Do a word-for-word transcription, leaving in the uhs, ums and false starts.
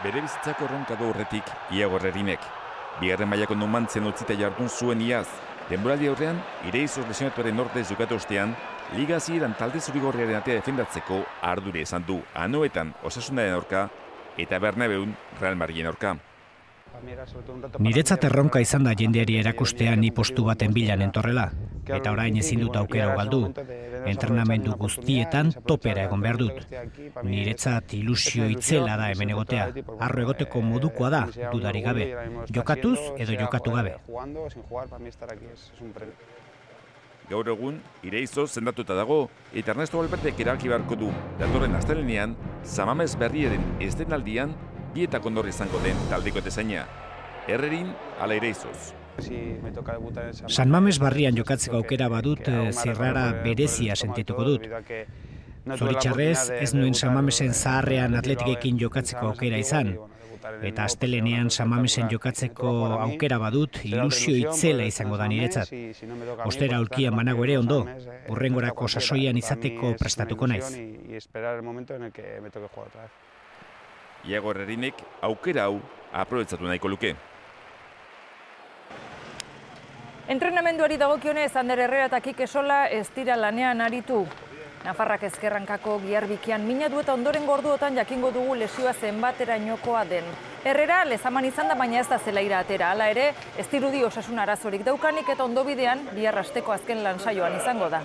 bere bizitzako erronka du horretik Iago Herrerinek. Bigarren mailako Numantzen utzita jardun zuen iaz. Denboraldi aurrean, Ireizoz lesionatuaren ordez jokatu ostean, liga hasieran talde zurigorriaren atea defendatzeko ardure esan du Anoetan Osasunaren aurka eta Bernabeun Real Madriden aurka. Niretzat erronka izan da jendeari erakustea ni postu baten bilan entorrela, eta orain ezin dut aukera galdu. Entrenamendu guztietan topera egon behar dut. Niretzat ilusio itzela da hemen egotea. Arro egoteko modukoa da, dudarik gabe. Jokatuz edo jokatu gabe. Gaur egun, Ireizoz sendatuta dago, eta Ernesto Valvertek erabaki beharko du datorren astelehenean, San Mames Berriaren eszenaldian bietak ondor izango den taldeko tezaina. Herrerin ala Ireizoz. San Mames Barrian jokatzeko aukera badut zirrara berezia sentituko dut. Zoritxarrez, ez nuen San Mamesen zaharrean atletikekin jokatzeko aukera izan. Eta astelenean San Mamesen jokatzeko aukera badut ilusio itzela izango da niretzat. Ostera aulkian banago ere ondo, hurrengorako sasoian izateko prestatuko naiz. Iago Herrerinek aukera hau aprobetxatu nahiko luke. Entrenamenduari dagokionez, Ander Herrera eta Kike Sola ez dira lanean aritu. Nafarrak ezkerrankako giharbikian mina du eta ondoren gorduotan jakingo dugu lesioa zenbaterainokoa den. Herrera lezaman izan da, baina ez da zelaira atera. Hala ere, ez dirudi osasun arazorik daukanik eta ondobidean bihar asteko azken lan saioan izango da.